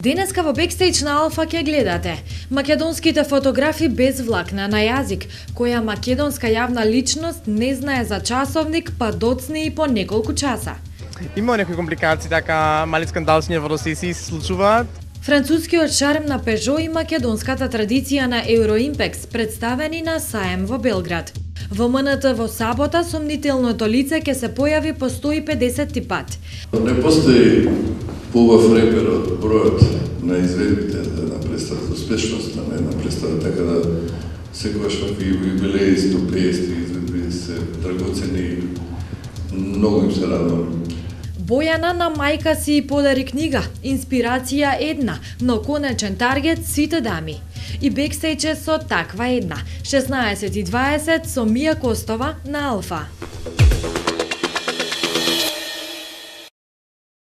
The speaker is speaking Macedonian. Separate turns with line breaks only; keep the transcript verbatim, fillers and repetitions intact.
Денеска во бекстејдж на Алфа ќе гледате македонските фотографи без влакна на јазик, која македонска јавна личност не знае за часовник, па доцни и по неколку часа.
Има некои компликации, така мали скандалчиња во росеси се случуваат.
Францускиот шарм на Пежо и македонската традиција на Евроимпекс представени на саем во Белград. Во М Н Т во сабота сомнителното лице ќе се појави по сто и педесет пат.
Не постои поубав репер од бројот на изведбите за една представа, за успешност на една представа, така да секогаш вакви юбилеи, сто и педесет изведби се драгоцени, многу им се радувам.
Бојана на мајка си подари книга, инспирација една, но конечен таргет сите дами. И бекстејдж е со таква една, шеснаесет и дваесет со Мија Костова на Алфа.